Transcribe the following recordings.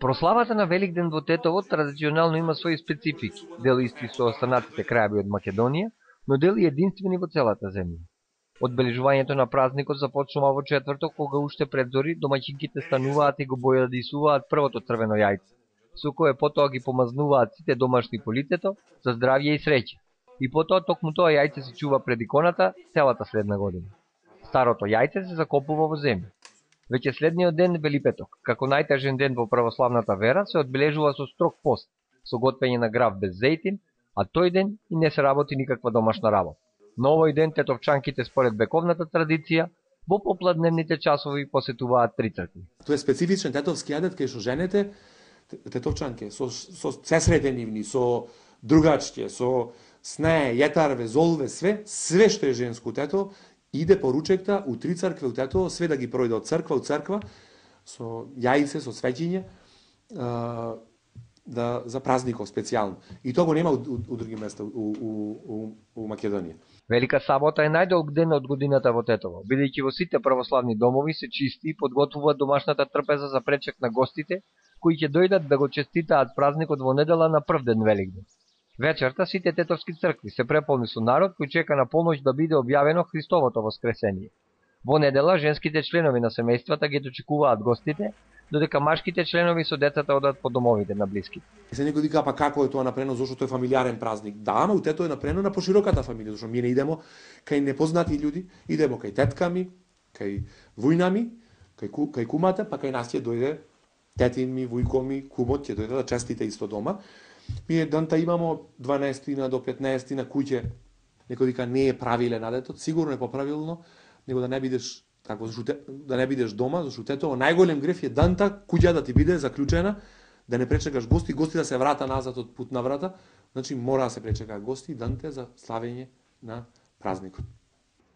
Прославата на Великден во Тетово традиционално има своји специфики, дел исти со останатите крајеви од Македонија, но дел и единствени во целата земја. Одбележувањето на празникот започнува во четврток, кога уште пред зори домаќинките стануваат и го бојадисуваат првото црвено јајце, со кое потоа ги помазнуваат сите домашни по лицето за здравје и среќа. И потоа токму тоа јајце се чува пред иконата целата следна година. Старото јајце се закопува во земја. Веќе следниот ден, Велипеток, како најтежен ден во православната вера, се одбележува со строг пост, со готвење на грав без зејтин, а тој ден и не се работи никаква домашна работа. На овој ден тетовчанките според вековната традиција во попладневните часови посетуваат 3 цркви. Тоа е специфичен тетовски адет кај што жените тетовчанке со сесрете нивни, со другачке, со снеј, јетарве, золве, све што е женско тето, иде поручекта у 3 цркви у Тетово, све да ги пројде од црква у црква, со јајце, со свеќиње, за празников специјално. И тоа го нема у други места у Македонија. Велика сабота е најдолг ден од годината во Тетово, бидејќи во сите православни домови се чисти и подготвуваат домашната трпеза за пречек на гостите, кои ќе дојдат да го честитаат празникот во недела на прв ден Великден. Вечерта сите тетовски цркви се преполни со народ кој чека на полноќ да биде објавено Христовото воскресение. Во недела женските членови на семејствата ги дочекуваат гостите, додека машките членови со децата одат по домовите на блиските. Се некој вика, па како е тоа направено, зашто тоа е фамилиарен празник? Да, ама у Тето е направено на пошироката фамилија, зашто ние не идемо кај непознати луѓе, идемо кај тетками, кај вујнами, кај кумата, па кај нас ќе дојде тетин ми, вујко ми, кумот ќе дојде да честите исто дома. Ние данта имамо 12 до 15 на куќе. Некој вика не е правилен адетот, сигурно е поправилно, него да не бидеш како да не бидеш дома, зашто Тетово најголем греф е данта куќа да ти биде заклучена, да не пречекаш гости да се врата назад од путна врата, значи мора да се пречекаат гости данте за славење на празникот.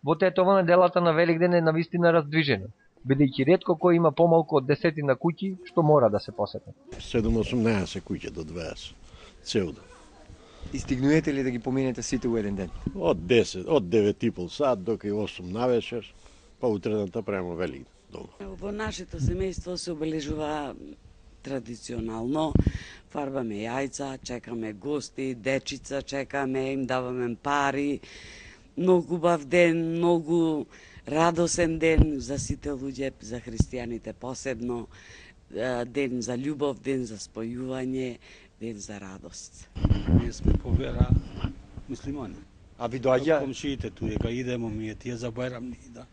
Во Тетово неделата на Великден е навистина раздвижена, бидејќи ретко кој има помалку од 10 куќи што мора да се посетат. 7-18 куќи до 20. Цел ден. И стигнуете ли да ги поминете сите у еден ден? Од 9:30 сат до 8 навечер, па утредната према Великден дома. Во нашето семејство се обележува традиционално. Фарбаме јајца, чекаме гости, дечица чекаме, им даваме пари. Многу убав ден, многу радосен ден за сите луѓе, за христијаните посебно. Ден за љубов, ден за спојување, ден за радост. Ние сме по вера муслимани. А ви доаѓа комшиите тука идемо ми тие за Бајрам да.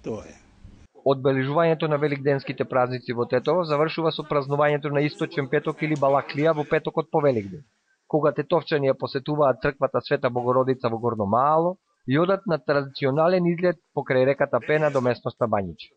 Тоа е. Одбележувањето на великденските празници во Тетово завршува со празнувањето на Источен петок или Балаклија во петокот по Великден, кога тетовчани ја посетуваат црквата Света Богородица во Горно Маало и одат на традиционален излет покрај реката Пена до местноста Бањиче.